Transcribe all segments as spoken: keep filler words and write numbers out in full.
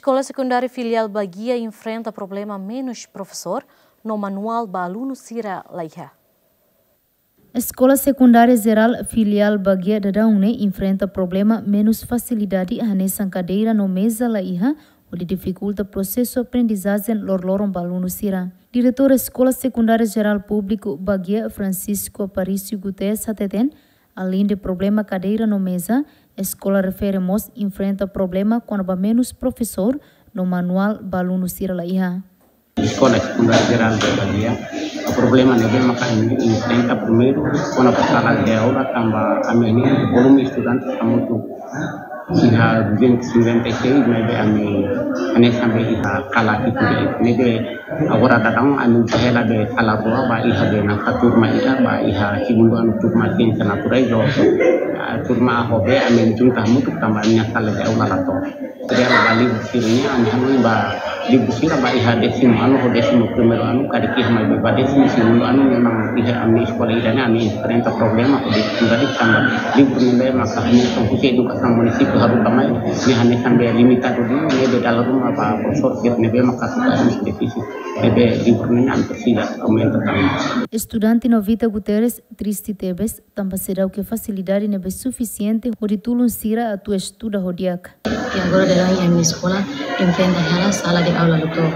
Eskola Sekundária Filiál Baguia enfrenta problema menus profesór no manuál ba alunu sira la iha. Eskola Sekundária Jerál Filiál Baguia daudaun ne'e enfrenta problema menus fasilidade hanesan kadeira no meza la iha, hodi difikulta prosesu aprendizajen loroloron ba alunu sira. Diretór Eskola Sekundária Jerál Públiku Baguia, Francisco Aparício Guterres, hateten, aleinde problema kadeira no meza, eskola refere mós enfrenta problema kona-ba menus profesór no manuál ba alunu sira la iha. Eskola Sekundária Jerál Baguia, problema ne'ebé maka ami enfrenta primeiru kona-ba sala de aula, tanba ami-nia volume estudante hamutuk iha duzentos e cinquenta e seis, maibé ami hanesan be iha kala hitu de'it. Ne'ebé agora daudaun ami hela be sala rua ba iha be nafatin turma ida, ba iha segundu anu turma Siénsia Naturais, ho, ah, turma A ho B, ami junta hamutuk tanba ami-nia sala de aula la to'o. Jadi ba livru sira-ne'e, ami hanoin ba livru sira ba iha décimo ano ho décimo primeiro ano, karik iha, maibé ba décimo segundo ano memang iha ami eskola ida-ne'e ami enfrenta problema ho dificuldade tanba livru ne'ebé maka hanesan husi edukasaun munisípiu haruka mai, ne'e hanesan be limitadu duni, ne'ebé dala ruma ba profesór sira ne'ebé maka suka harus defisi, ne'ebé livru ne'e ami presiza aumenta tanba. Estudante Novita Guterres triste tebes, tanba seidauk iha fasilidade ne'ebé sufisiente hodi tulun sira atu estuda ho di'ak. I agora daudaun ami eskola enfrenta hela sala de aula la to'o.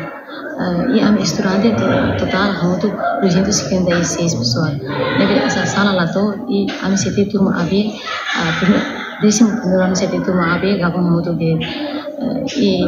Eh, i ami estudante to-, totál hamutuk duzentos e cinquenta e seis pessoas. Ne'ebé sa-, sala la to'o, i ami sete turma A B, ah, prime-, décimo primeiro ano sete turma A B, gabung hamutuk de'it, eh, i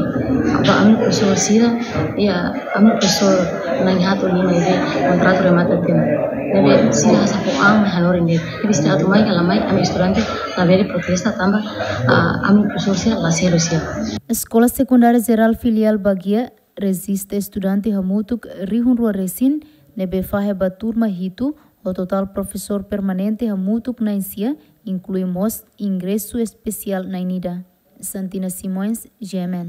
ba ami profesór sira, i, ah, ami profesór na'in haat liu ne'ebé kontratu remata tiha ona. Ne'ebé sira hasa'e fó an mai hanorin de'it. Ne'ebé sira atu mai ka la mai, ami estudante labele protesta tanba, ah, ami profesór sira la selu sira. Eskola Sekundária Jerál Filiál Baguia rejista estudante hamutuk rihun rua resin, ne'ebé fahe ba turma hitu, ho totál profesór permanente hamutuk na'in sia, inklui mós ingresu espesiál na'in ida. Santina Simões, G M N.